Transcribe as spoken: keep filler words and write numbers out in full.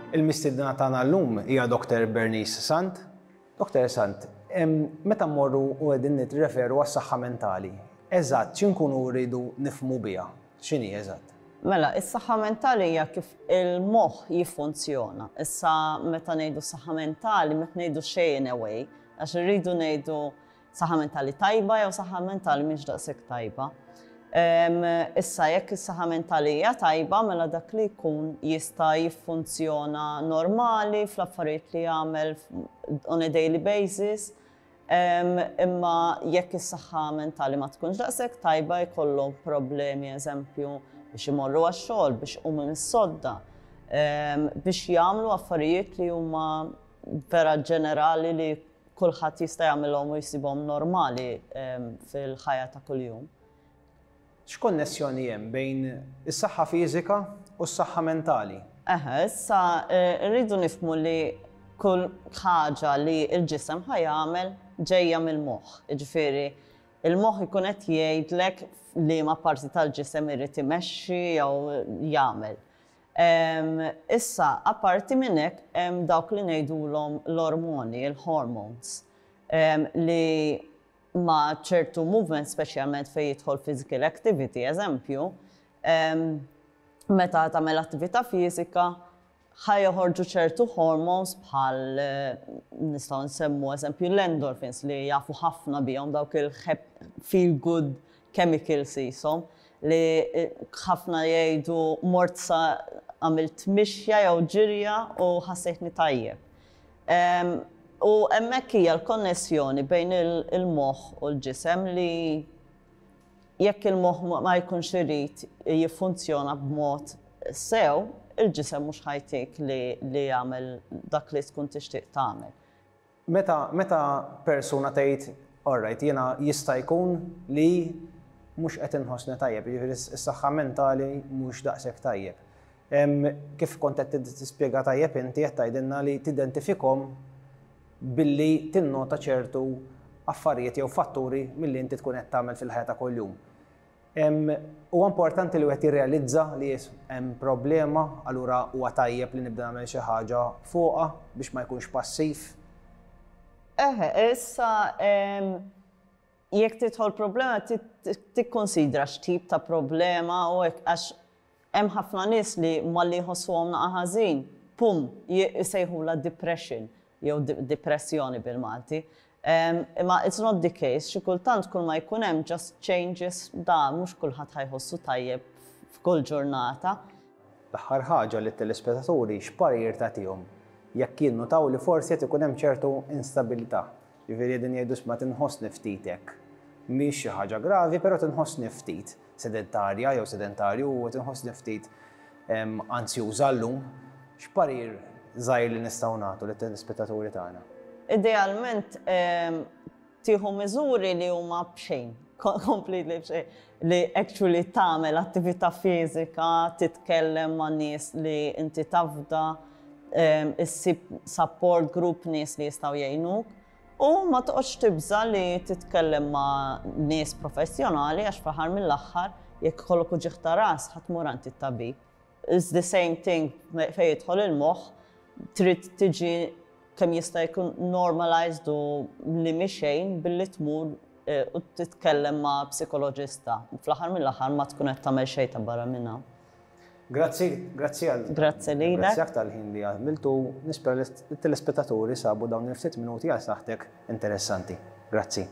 Il-mistedna tagħna llum hija Doctor Bernice Sant. Doctor Sant, meta mmorru u qegħdin nirreferu għas-saħħa mentali, eżatt x'inkunu rridu nifhmu biha? X'inhi eżatt? Mela, is-saħħa mentali hija kif il-moħħ jiffunzjona. Issa, meta ngħidu saħħa mentali, meta ngħidu xejn in a way, għax irridu ngħidu saħħa mentali tajba jew saħħa mentali mhix daqshekk tajba. Issa, jekk is-saħħa mentali hija tajba, mela dak li jkun jista' jiffunzjona normali fl-affarijiet li jagħmel on a daily basis. Imma jekk is-saħħa mentali ma tkunx daqshekk tajba, jkollhom problemi, eżempju, biex imorru għax-xogħol, biex iqumu mis-sodda, biex jagħmlu affarijiet li huma vera ġenerali li kulħadd jista' jagħmilhom u jsibhom normali fil-ħajja ta' kuljum. X'konnessjoni hemm bejn is-saħħa fiżika u s-saħħa mentali? Eħe, issa eh, rridu nifhmu li kull ħaġa li l-ġisem ħa jagħmel ġejja mill-moħħ. Jiġifieri, il-moħħ ikun qed jgħidlek li ma parti tal-ġisem irid imexxi jew jagħmel. Issa, apparti minn hekk, hemm dawk li ngħidulhom l-ormoni, il-hormones, li ma' ċertu movement, speċjalment fejn jidħol physical activity, eżempju, meta tagħmel attività fiżika, ħa joħorġu ċertu hormones bħal eh, nistgħu nsemmu, eżempju, l-endorphins, li jafu ħafna bihom, dawk il-feel good chemicals jisimhom, li eh, ħafna jgħidu "mort sa għamilt mixja jew ġirja u ħassejtni tajjeb". U hemmhekk hija l-konnessjoni bejn il-moħħ u l-ġisem, li jekk il-moħħ ma jkunx irid jiffunzjona b'mod sew, il-ġisem mhux ħa jtik li, li jagħmel dak li tkun tixtieq tagħmel. Meta, meta persuna tgħid, "Alright, jiena jista' jkun li mhux qed inħossni tajjeb, jiġifieri s-saħħa mentali mhux daqshekk tajjeb." Kif kont qed tispjega tajjeb inti, qed tgħidilna li tidentifikhom billi tinnota ċertu affarijiet jew fatturi milli inti tkun qed tagħmel fil-ħajja ta' kuljum. Huwa importanti li wieħed jirrealizza li hemm problema, allura huwa tajjeb li nibda nagħmel xi ħaġa fuqha biex ma jkunx passiv. Eħe, issa, jekk tidħol problema, tikkonsidra x'tip ta' problema u għax hemm ħafna nies li malli jħossuhom naqa' ħażin, pum, jsejħula depression jew depressjoni bil-Malti. Imma it's not the case, xi kultant kull ma jkun hemm just changes da mhux kulħadd ħa jħossu tajjeb f'kull ġurnata. L-aħħar ħaġa, lit-telespettaturi x'parir tagħtihom jekk jinnutaw li forsi qed ikun hemm ċertu instabilità? Jiġifieri qegħdin jgħidu, "Isma', tinħossni ftit hekk. Mhix xi ħaġa gravi, però tinħossni ftit sedentarja jew sedentarju u tinħossni ftit anzjuża llum." X'parir żgħir li nistgħu nagħtu lit-telespettaturi tagħna? Idealment tieħu miżuri li huma b'xejn, completely b'xejn, li actually tagħmel attività fiżika, titkellem ma' nies li inti tafda, issib support group, nies li jistgħu jgħinuk. U ma toqgħodx tibża li titkellem ma' nies professjonali, għax fl-aħħar mill-aħħar jekk ikollok uġigħ ta' ras, ħa tmur għand it-tabib. It's the same thing fejn jidħol il-moħħ, trid tiġi kemm jista' jkun normalized u li mixejn billi tmur eh, u titkellem ma' psikoloġista. Fl-aħħar mill-aħħar ma tkun qed tagħmel xejn ta' barra minnha. Grazzi, grazzi għal. Grazzi lilek. Grazzi aktar ħin li għamiltu. Nispera li t-telespettaturi sabu dawn il-ftit minuti għal saħtek interessanti. Grazzi.